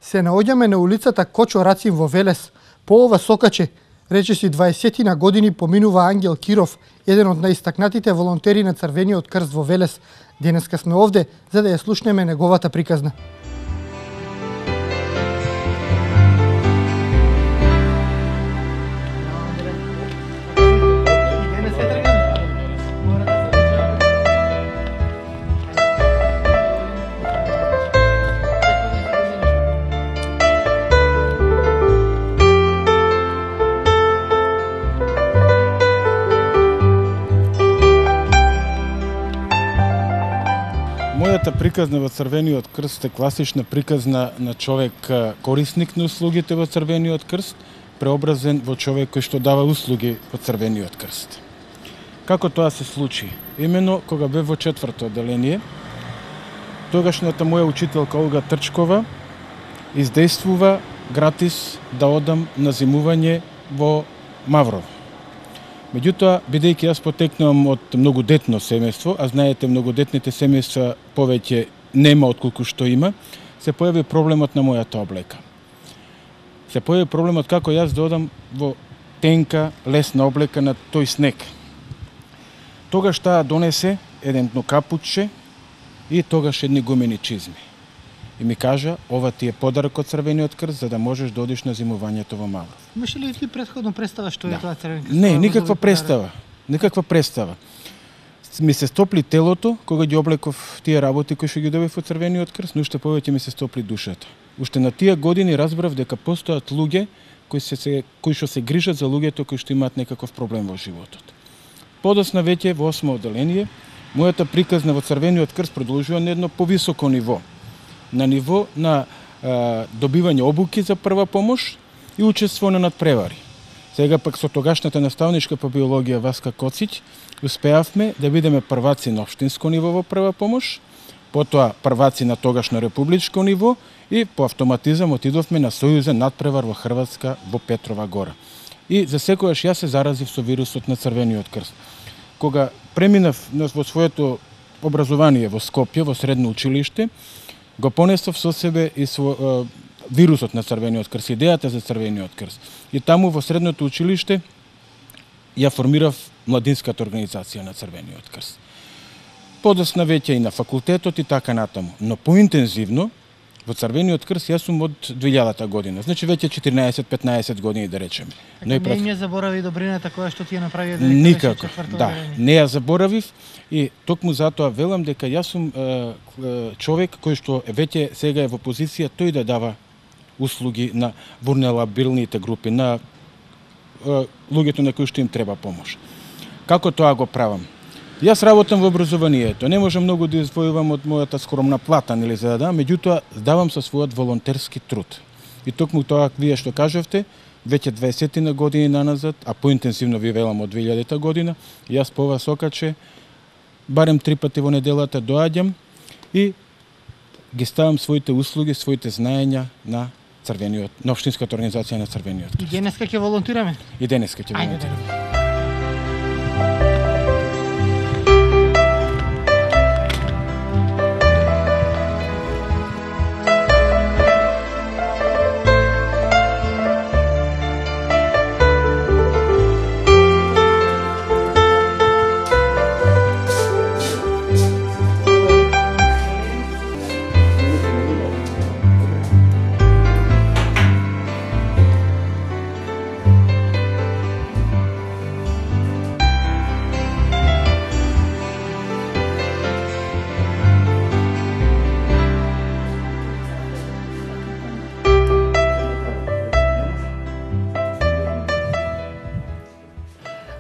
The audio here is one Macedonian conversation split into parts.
Се наоѓаме на улицата Кочо Рацин во Велес. По ова сокаче, речиси 20 години поминува Ангел Киров, еден од наистакнатите волонтери на Црвениот крст во Велес. Денеска сме овде за да ја слушнеме неговата приказна. Мојата приказна во Црвениот крст е класична приказна на човек корисник на услугите во Црвениот крст, преобразен во човек кој што дава услуги во Црвениот крст. Како тоа се случи? Имено кога бев во 4-то одделение, тогашната моја учителка Олга Трчкова издействува гратис да одам на зимување во Маврово. Меѓутоа, бидејќи јас потекнувам од многодетно семејство, а знаете многодетните семејства повеќе нема отколку што има, се појави проблемот на мојата облека. Се појави проблемот како јас да одам во тенка, лесна облека на тој снег. Тогаш таа донесе едно капучче и тогаш едни гумени чизми. И ми кажа, ова ти е подарок од Црвениот крст за да можеш да одиш на зимувањето во Мавров. Имаш ли ти претходно представа што е тоа Црвен крст? Не, никаква представа. Никаква представа. Ми се стопли телото кога ги облеков тие работи кои што ги добив од Црвениот крст, но уште повеќе ми се стопли душата. Уште на тие години разбрав дека постојат луѓе кои што се грижат за луѓето кои што имаат некаков проблем во животот. Подосна веќе во 8-о одделение, мојата приказна во Црвениот крст продолжува на едно повисоко ниво. На ниво на добивање обуки за прва помош и учество на надпревари. Сега пак со тогашната наставничка по биологија Васка Коцич успеавме да бидеме прваци на општинско ниво во прва помош, потоа прваци на тогашно републичко ниво и по автоматизам отидовме на сојузен надпревар во Хрватска во Петрова гора. И за секојаш јас се заразив со вирусот на Црвениот крст. Кога преминав во своето образование во Скопје, во средно училиште, го понесов со себе и вирусот на Црвениот крст, идејата за Црвениот крст. И таму во средното училиште ја формирав младинската организација на Црвениот крст. Подосна веќе и на факултетот и така натаму. Но поинтензивно во Црвениот крст јас сум од 2000 година. Значи веќе 14-15 години да речеме. Така не заборави добрината која што ти ја направи никако. Да, не ја заборавив и токму затоа велам дека јас сум човек кој што веќе сега е во позиција тој да дава услуги на вулнерабилните групи, на луѓето на кои што им треба помош. Како тоа го правам? Јас работам во образованието. Не можам многу да извојувам од мојата скромна плата, нели за да дам, меѓутоа давам со својот волонтерски труд. И токму тоа вие што кажавте, веќе 20 на години наназад, а поинтензивно ви велам од 2000 година, јас по ова сокаче барем 3 пати во неделата доаѓам и ги ставам своите услуги, своите знаења на Црвениот, на општинската организација на Црвениот крст. И денеска ќе волонтираме? И денеска ќе волонтираме.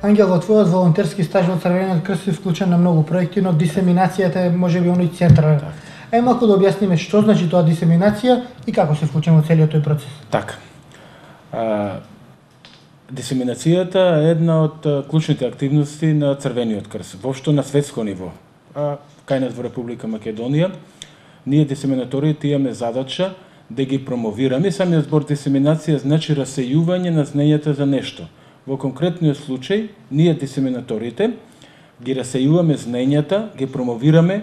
Ангел, во твојот волонтерски стаж во Црвениот крст си вклучен на многу проекти, но дисеминацијата е можеби оној центар. Ај малку да објасниме што значи тоа дисеминација и како се вклучен во целиот тој процес. Така. Дисеминацијата е една од клучните активности на Црвениот крст, воопшто на светско ниво. Кај нас во Република Македонија, ние дисеминаторите имаме задача да ги промовираме. Самиот збор дисеминација значи расејување на знаењата за нешто. Во конкретниот случај, ние дисеминаторите ги расејуваме знаењата, ги промовираме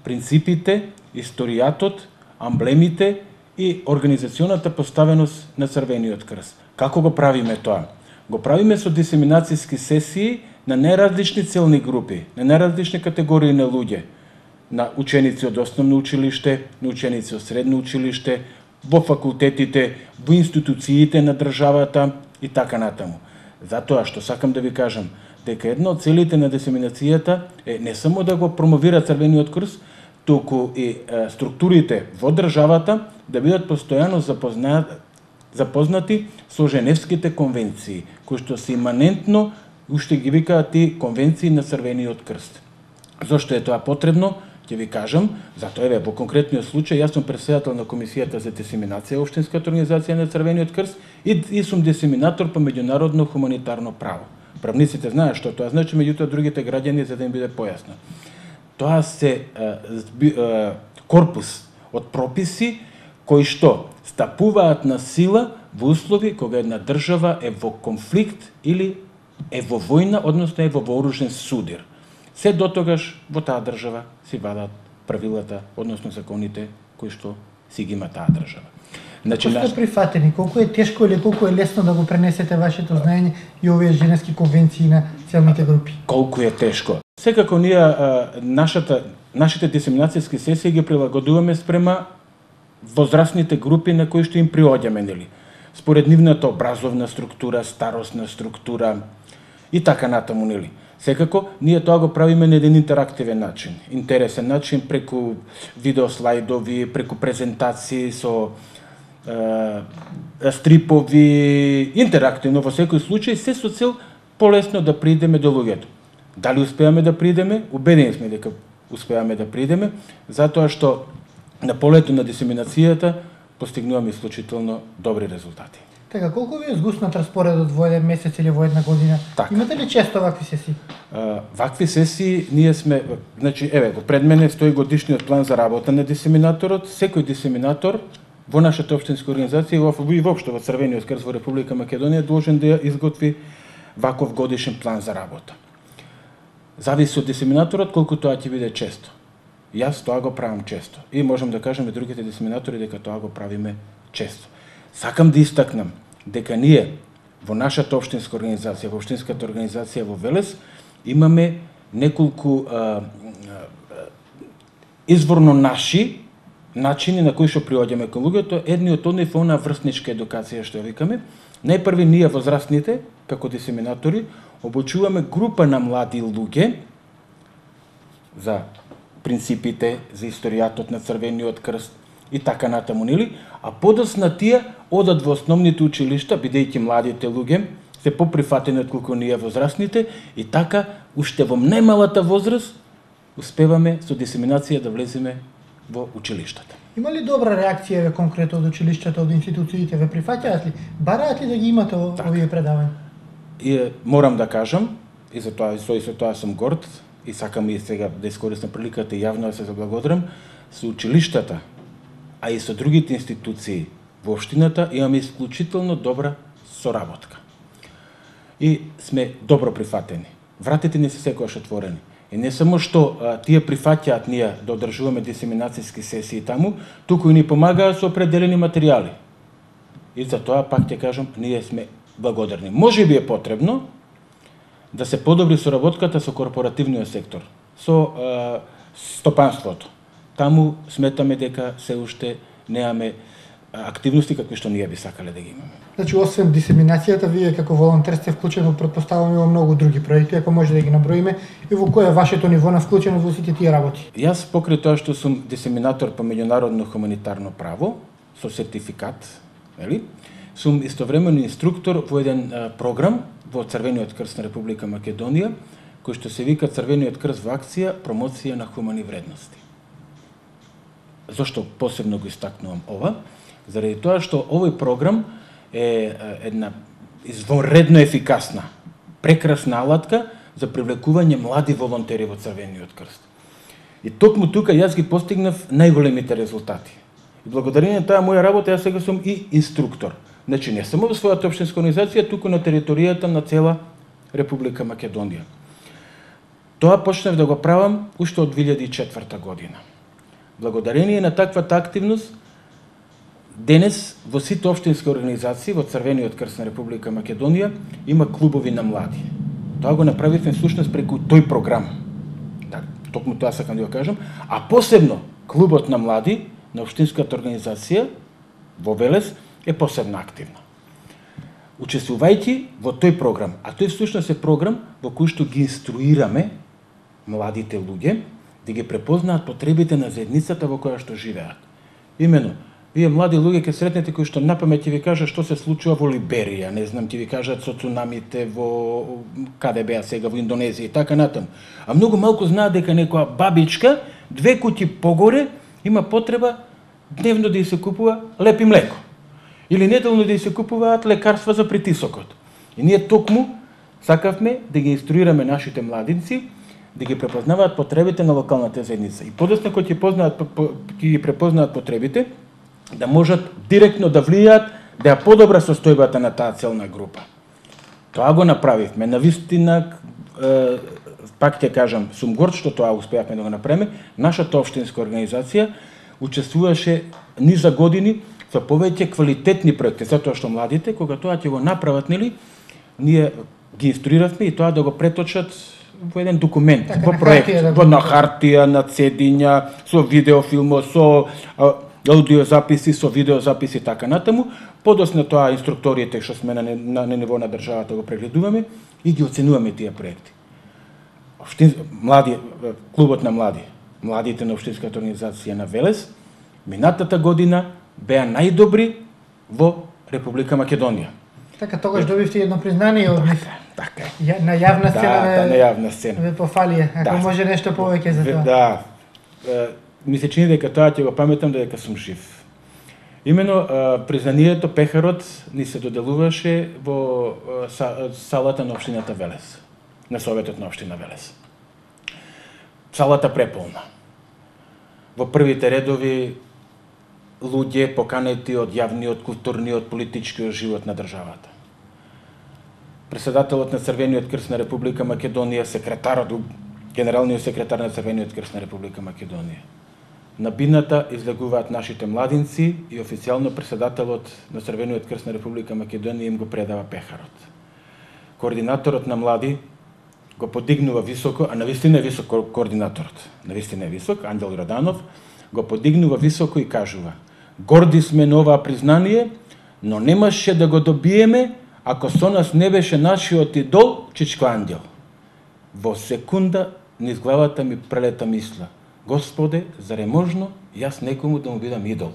принципите, историјатот, амблемите и организационата поставеност на Црвениот крст. Како го правиме тоа? Го правиме со дисеминацијски сесии на најразлични целни групи, на најразлични категории на луѓе, на ученици од основно училиште, на ученици од средно училиште, во факултетите, во институциите на државата и така натаму. Затоа што сакам да ви кажам дека една од целите на дисеминацијата е не само да го промовира Црвениот крст, туку и структурите во државата да бидат постојано запознати со Женевските конвенции, кои што се иманентно уште ги викаат и конвенции на Црвениот крст. Зошто е тоа потребно? Ќе ви кажам, затоа еве во конкретниот случај јас сум претседател на комисијата за дисеминација општинската организација на Црвениот крст и сум дисеминатор по меѓународно хуманитарно право. Правниците знаат што тоа значи, меѓутоа другите граѓани за да им биде појасно. Тоа се корпус од прописи кои што стапуваат на сила во услови кога една држава е во конфликт или е во војна, односно е во вооружен судир. Се дотогаш во таа држава си вадат правилата, односно законите кои што си ги има таа држава. Значи, колку сте прифатени, колку е тешко или колку е лесно да го пренесете вашето знаење и овие женевски конвенции на целните групи? Колку е тешко. Секако ние нашите дисеминацијски сесии ги прилагодуваме спрема возрастните групи на кои што им приоѓаме, нели? Според нивната образовна структура, старосна структура и така натаму, нели? Секако, ние тоа го правиме на еден интерактивен начин, интересен начин, преку видеослайдови, преку презентации со стрипови, интерактивно во секој случај, се со цел полесно да придеме до луѓето. Дали успеаме да придеме? Убедени сме дека успеаме да придеме, затоа што на полето на дисеминацијата постигнуваме исклучително добри резултати. Така, колку ви е згуснат распоредот во еден месец или во една година? Так. Имате ли често вакви сесии? Вакви сесии ние сме, значи, еве, го пред мене стои годишниот план за работа на дисеминаторот. Секој дисеминатор во нашата општинска организација и воопшто во Црвениот крст во Република Македонија должен да ја изготви ваков годишен план за работа. Зависи од дисеминаторот колку тоа ќе биде често. Јас тоа го правам често и можам да кажам и другите дисеминатори дека тоа го правиме често. Сакам да истакнам дека ние во нашата општинска организација, во општинската организација во Велес, имаме неколку изворно наши начини на кои што приоѓаме кон луѓето. Едни од нив е онаа врсничка едукација што ја викаме. Најпрви ние возрастните, како дисеминатори, обучуваме група на млади луѓе за принципите, за историјатот на Црвениот крст и така натаму, нели? А подоцна тие одат во основните училишта, бидејќи младите луѓе се поприфатени отколку ние возрастните, и така уште во најмалата возраст успеваме со дисеминација да влеземе во училиштата. Има ли добра реакција конкретно од училиштата, од институциите, ве прифаќаат ли? Бараат ли да ги имате овие предавања? И морам да кажам, и за тоа сум горд, и сакам и сега да искористам приликата и јавно да се заблагодарам, со училиштата, а и со другите институции во општината имаме исклучително добра соработка. И сме добро прифатени. Вратите ни се секогаш отворени. И не само што тие прифаќаат ние да одржуваме дисеминацијски сесии таму, туку и ни помагаат со определени материјали. И за тоа, пак ќе кажам, ние сме благодарни. Може би е потребно да се подобри соработката со корпоративниот сектор, со стопанството. Таму сметаме дека се уште немаме активности какви што ние би сакале да ги имаме. Значи, освен дисеминацијата, вие како волонтер сте вклучени, претпоставуваме, во многу други проекти, ако може да ги наброиме, и во кој е вашето ниво на вклученост во сите тие работи? Јас покрај тоа што сум дисеминатор по меѓународно хуманитарно право, со сертификат, нели? Сум истовремено инструктор во еден програм во Црвениот крст на Република Македонија, кој што се вика Црвениот крст во акција промоција на хумани вредности. Зошто посебно го истакнувам ова? Заради тоа што овој програм е една извонредно ефикасна, прекрасна алатка за привлекување млади волонтери во Црвениот крст. И токму тука јас ги постигнав најголемите резултати. И благодарение на таа моја работа јас сега сум и инструктор. Значи не само во својата општинска организација, туку на територијата на цела Република Македонија. Тоа почнав да го правам уште од 2004 година. Благодарение на таквата активност, денес во сите општински организации во Црвениот крст на Република Македонија има клубови на млади. Тоа го направивме всушност преку тој програм. Да, токму тоа сакам да го кажам, а посебно клубот на млади на општинската организација во Велес е посебно активна. Учествувајќи во тој програм, а тој всушност е програм во кој што ги инструираме младите луѓе да ги препознаат потребите на заедницата во која што живеат. Имено, вие млади луѓе ќе сретнете кои што напамет ќе ви кажат што се случува во Либерија, не знам, ќе ви кажат со цунамите во каде беа сега во Индонезија и така натаму. А многу малку знаат дека некоја бабичка 2 куќи погоре има потреба дневно да ја се купува леп и млеко. Или неделно да ја се купуваат лекарства за притисокот. И ние токму сакавме да ги инструираме нашите младинци да ги препознаваат потребите на локалната заедница. И подоцна кога ќе ги препознаат потребите, да можат директно да влијаат да ја подобра состојбата на таа целна група. Тоа го направивме. Навистина, пак ќе кажам, сум горд што тоа успеавме да го направиме. Нашата општинска организација учествуваше низа години со повеќе квалитетни проекти, затоа што младите, кога тоа ќе го направат, нели, ние ги инструиравме и тоа да го преточат во еден документ, така, во проект, на хартија, на цедиња, со видеофилмо, со аудиозаписи, со видеозаписи така натаму. Подоцна тоа инструкторите што сме на ниво на државата го прегледуваме и ги оценуваме тие проекти. Клубот на младите на општинската организација на Велес, минатата година беа најдобри во Република Македонија. Така, тогаш добивте едно признание од нив. Така. На јавна сцена. Да, на јавна сцена. Ве пофалија, ако може нешто повеќе за тоа. Да. Ми се чини дека тоа ќе го паметам дека сум жив. Имено признанието, пехарот ни се доделуваше во салата на општината Велес, на Советот на општина Велес. Салата преполна. Во првите редови луѓе поканети од јавниот, културниот, политичкиот живот на државата. Председателот на Црвениот крст на Република Македонија, генералниот секретар на Црвениот крст на Република Македонија. На бината излегуваат нашите младинци и официјално председателот на Црвениот крст на Република Македонија им го предава пехарот. Координаторот на млади го подигнува високо, а навистина е висок координаторот. Навистина е висок, Ангел Раданов, го подигнува високо и кажува: горди сме на оваа признание, но немаше да го добиеме ако со нас не беше нашиот идол Чичко Ангел. Во секунда низ главата ми прелета мисла: Господе, зар е можно јас некому да му бидам идол?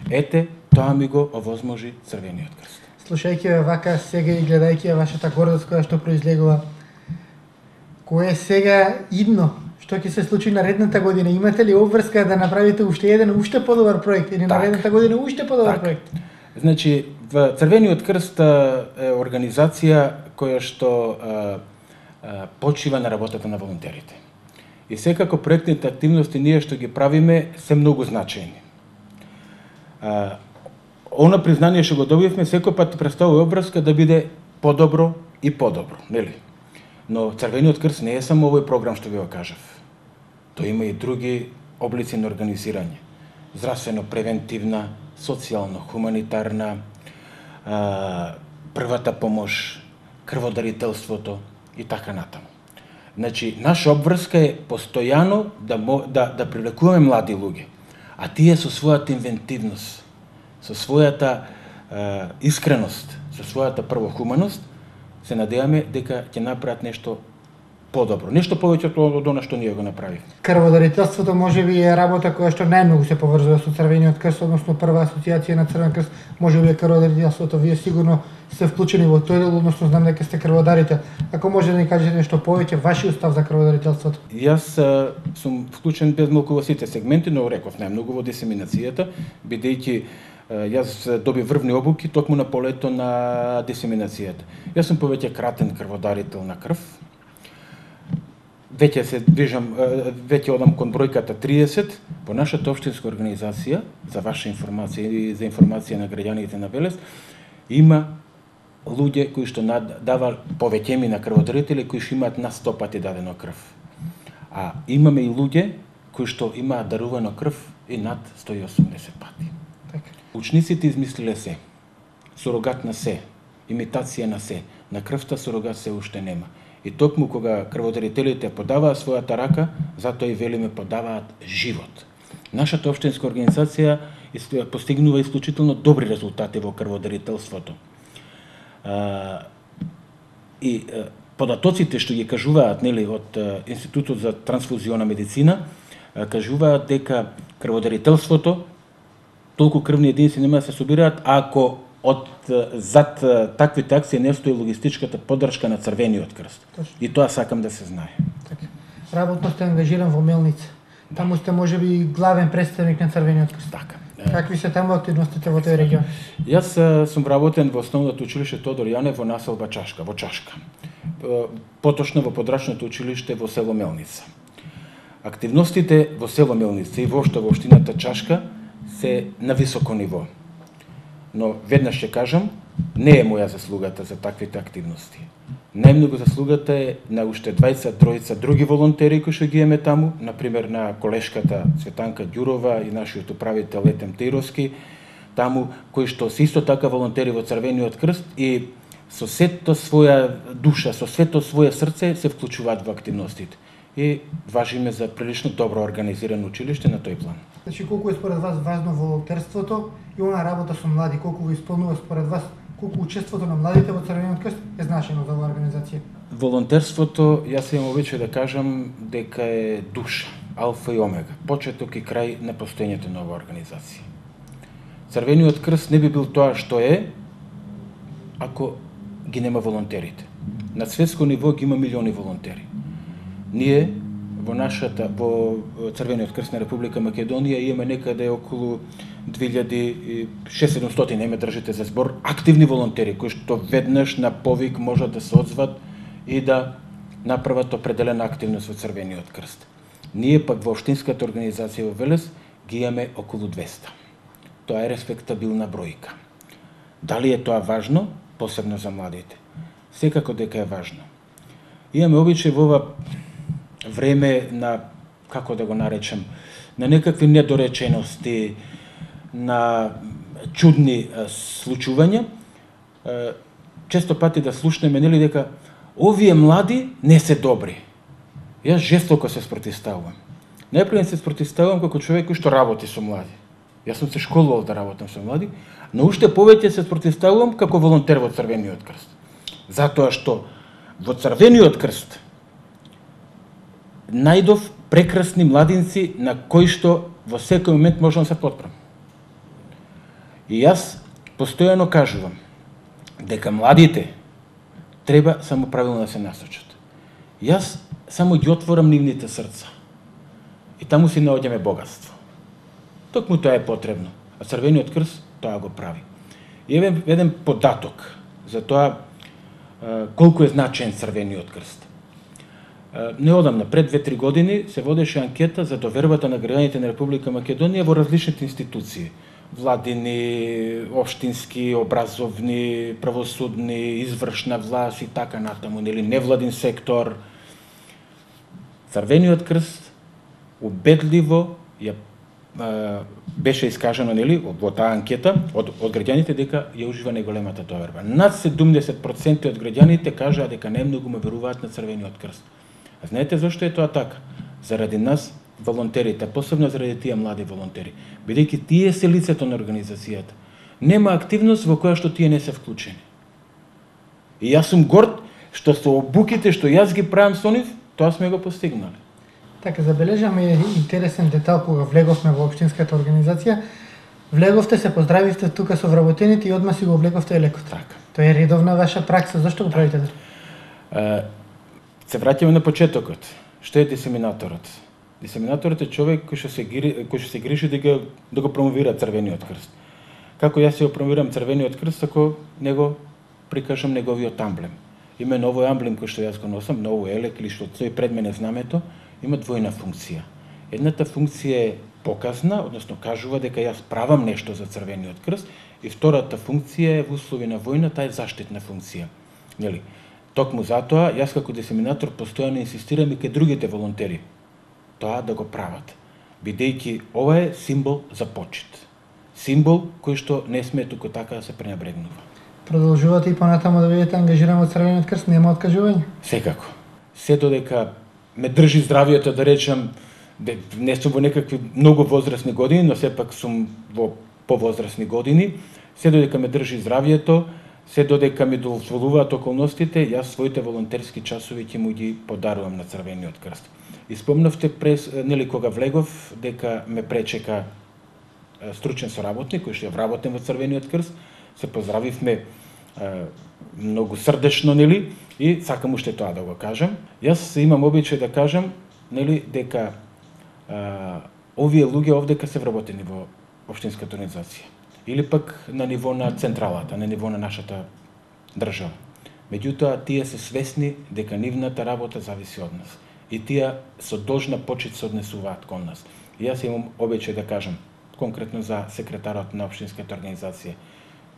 Ете, тоа ми го овозможи Црвениот крст. Слушајќи вака сега и гледајќи вашата гордост која што произлегува, кој е сега идно? Што ќе се случи наредната година? Имате ли обврска да направите уште еден, уште подобар проект? Или наредната година уште подобар проект? Значи, в Црвениот крст е организација која што почива на работата на волонтерите. И секако проектните активности ние што ги правиме се многу значајни. Она признание што го добивме секој пат представува обврска да биде подобро и подобро, нели? Но Црвениот крст не е само овој програм што ви го кажав. Тој има и други облици на организирање. Здравствено-превентивна, социјално-хуманитарна, првата помош, крводарителството и така натаму. Значи, наша обврска е постојано да привлекуваме млади луѓе, а тие со својата инвентивност, со својата искреност, со својата првохуманост, се надеваме дека ќе направат нешто подобро, нешто повеќе од она што ние го направивме. Крводарителството можеби е работа која што најмногу се поврзува со Црвениот крст, односно прва асоциација на Црвен крст, можеби е крводарителството. Вие сигурно сте вклучени во тој дел, односно знам дека сте крводарител. Ако може да ни кажете нешто повеќе, вашиот став за крводарителството? Јас сум вклучен безмалку во сите сегменти, но реков најмногу во дисеминацијата, бидејќи јас добив врвни обуки токму на полето на дисеминацијата. Јас сум повеќе кратен крводарител на крв. Веќе се движам, веќе одам кон бројката 30 по нашата општинска организација, за ваша информација и за информација на граѓаните на Велес, има луѓе кои што дава повеќе на крводарители кои што имаат на 100 пати дадено крв. А имаме и луѓе кои што имаат дарувано крв и над 180 пати. Така. Учниците измислиле се. Сурогат на се, имитација на се. На крвта сурогат се уште нема. И токму кога крводарителите подаваат својата рака, затоа и велиме подаваат живот. Нашата општинска организација постигнува исклучително добри резултати во крводарителството. И податоците што ги кажуваат, нели, од Институтот за трансфузиона медицина, кажуваат дека крводарителството толку крвни единици нема да се собираат ако зад таквите акции не стои логистичката поддршка на Црвениот крст. Точно. И тоа сакам да се знае. Така. Работно сте ангажиран во Мелница. Таму сте можеби главен представник на Црвениот крст. Така. Какви се таму активностите во тој регион? Јас сум работен во основното училиште Тодор Јане во населба Чашка, во Чашка. Поточно во подрачното училиште во село Мелница. Активностите во село Мелница и воопшто во општината Чашка се на високо ниво. Но веднаш ќе кажам, не е моја заслугата за таквите активности. Најмногу заслугата е на уште 20-тројца други волонтери кои што ги имаме таму, например на колешката Цветанка Ѓурова и нашиот управител Етем Тировски, таму кои што се исто така волонтери во Црвениот крст и со сето своја душа, со сето своје срце се вклучуваат во активностите. И важиме за прилично добро организирано училиште на тој план. Значи, колку е според вас важно волонтерството и она работа со млади, колку го исполнува според вас, колку учеството на младите во Црвениот крст е значено за оваа организација? Волонтерството, јас имам обичај да кажам дека е душа, алфа и омега, почеток и крај на постоењето на оваа организација. Црвениот крст не би бил тоа што е ако ги нема волонтерите. На светско ниво ги има милиони волонтери. Ние во Црвениот крст на Република Македонија имаме некаде околу 2600, не ме држите за збор, активни волонтери кои што веднаш на повик можат да се одзват и да направат определена активност во Црвениот крст. Ние пак во општинската организација во Велес ги имаме околу 200. Тоа е респектабилна бројка. Дали е тоа важно, посебно за младите? Секако дека е важно. Имаме обичај во ова време на, како да го наречем, на некакви недоречености, на чудни случувања, често пати да слушнеме, нели, дека овие млади не се добри. Јас жестоко се спротивставувам. Најпрво се спротивставувам како човек кој што работи со млади. Јас сум се школувал да работам со млади, но уште повеќе се спротивставувам како волонтер во Црвениот крст. Затоа што во Црвениот крст најдов прекрасни младинци на кои што во секој момент можам да се потпрам. И јас постојано кажувам дека младите треба само правилно да се насочат. Јас само ги отворам нивните срца. И таму си наоѓаме богатство. Токму тоа е потребно. А Црвениот крст тоа го прави. И еден податок за тоа колку е значен Црвениот крст. Неодамна, пред 2-3 години, се водеше анкета за довербата на граѓаните на Република Македонија во различните институции. Владини, општински, образовни, правосудни, извршна власт и така натаму, нели, невладин сектор. Црвениот крст убедливо беше искажано, нели, во таа анкета од граѓаните дека ја ужива најголемата доверба. Над 70% од граѓаните кажаа дека најмногу ме веруваат на Црвениот крст. А знаете зашто е тоа така? Заради нас, волонтерите, посебно заради тие млади волонтери, бидејќи тие се лицето на организацијата. Нема активност во која што тие не се вклучени. И јас сум горд што со обуките што јас ги правам со нив, тоа сме го постигнали. Така, забележаме интересен детал кога влеговме во општинската организација. Влеговте, се поздравивте тука со вработените и одма си го влеговте и лекот. Така. Тоа е редовна ваша пракса, зашто го правите? Се враќаме на почетокот. Што е дисеминаторот? Дисеминаторот е човек кој што се грижи да го промовира Црвениот крст. Како јас се го промовирам Црвениот крст, ако него прикажам неговиот амблем. Именно овој амблем кој што јас го носам, на овој елек или што стои пред мене знамето, има двојна функција. Едната функција е показна, односно кажува дека јас правам нешто за Црвениот крст, и втората функција е во услови на војна, таа е заштитна функција. Нели? Токму затоа, јас како дисеминатор постојано инсистирам и кај другите волонтери тоа да го прават, бидејќи ова е символ за почит. символ кој што не сме туку така да се пренебрегнува. Продолжувате и понатаму да бидете ангажирани од Црвениот крст, нема откажување? Секако. Се додека ме држи здравието, да речам, не сум во некакви многу возрастни години, но сепак сум во повозрастни години, се додека ме држи здравието, се додека ми дозволуваат околностите, јас своите волонтерски часови ќе му ги подарувам на Црвениот крст. И спомнавте кога влегов дека ме пречека стручен соработник кој што е вработен во Црвениот крст, се поздравивме многу срдечно, и сакам уште тоа да го кажам. Јас имам обичај да кажам, дека овие луѓе овдека се вработени во општинската организација или пак на ниво на централата, на ниво на нашата држава. Меѓутоа, тие се свесни дека нивната работа зависи од нас. И тие со должна почит се однесуваат кон нас. И јас имам обичај да кажам, конкретно за секретарот на општинската организација.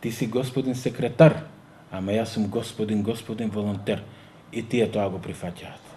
Ти си господин секретар, ама јас сум господин волонтер. И тие тоа го прифаќаат.